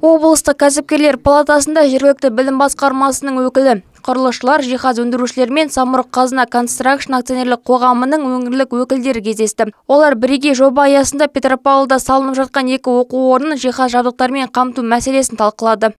Облыстық кәсіпкерлер палатасында жергілікті білім басқармасының өкілі, құрылысшылар, жиһаз өндірушілер мен Самұрық-қазына Констракшн акционерлік қоғамының өңірлік өкілдері кездесті. Олар бірегей жоба аясында Петропавлда салынып жатқан 2 оқу орнын жиһаз жабдықтарымен қамту мәселесін талқылады.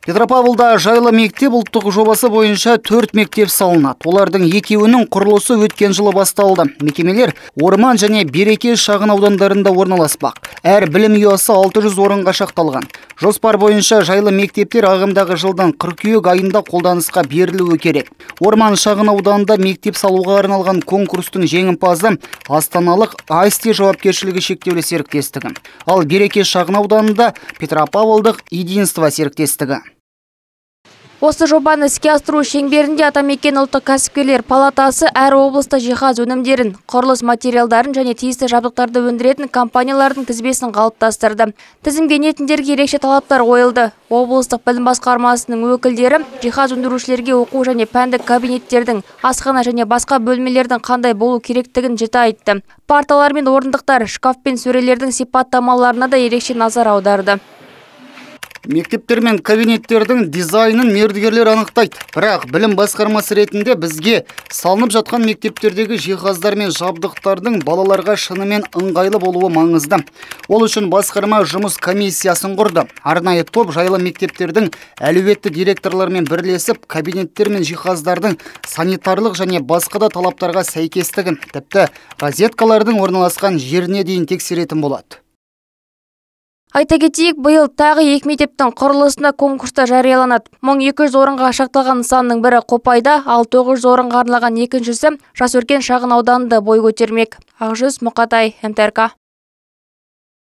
Петропавлда жайлы мектеп ұлттық жобасы бойынша 4 мектеп салынады. Олардың 2-інің құрылысы өткен жылы басталды. Мекемелер Орман және Береке шағын аудандарында орналаспақ. Әр білім ұясы 600 орынға шақталған. Жоспар бойынша жайлы мектептер ағымдағы жылдан қыркүйек айында қолданысқа берілуі керек. Орман шағын ауданында мектеп салуға арналған конкурстың жеңімпазы астаналық Айсти жауапкершілігі шектеулі серіктестігі. Ал Береке шағын ауданында Петропавлдық Единство серіктестігі. Осы жобаны іске асыру шеңберінде Атамекен ұлттық кәсіпкерлер палатасы әр облыста жиһаз өнімдерін, құрылыс материалдарын және тиісті жабдықтарды өндіретін компаниялардың тізбесін қалыптастырды. Тізімге енетіндерге ерекше талаптар қойылды. Облыстық білім басқармасының өкілдері жиһаз өндірушілерге оқу және пәндік кабинеттердің, асхана және басқа бөлмелердің қандай болу керектігін жіті айтты. Парталар мен орындықтар, шкаф пен сөрелердің сипаттамаларына да ерекше назар аударды. Мектептер мен кабинеттердің дизайнын мердігерлер анықтайды. Бірақ білім басқармасы ретінде бізге салынып жатқан мектептердегі жиһаздар мен жабдықтардың балаларға шынымен ыңғайлы болуы маңызды. Ол үшін басқарма жұмыс комиссиясын құрды. Арнайы топ жайлы мектептердің әлеуетті директорлармен бірлесіп, кабинеттер мен жиһаздардың санитарлық және басқа да талаптарға сәйкестігін, тіпті розеткалардың орналасқан жеріне дейін тексеретін болады. Айта кетейік, биыл тағы 2 мектептің құрылысына конкурста жарияланады. 1200 орынға шақталған нысанның бірі Қопайда, ал 900 орынға арналған екіншісі Жасөркен шағын ауданында бой көтермек. Ақжүз Мұқатай, МТРК.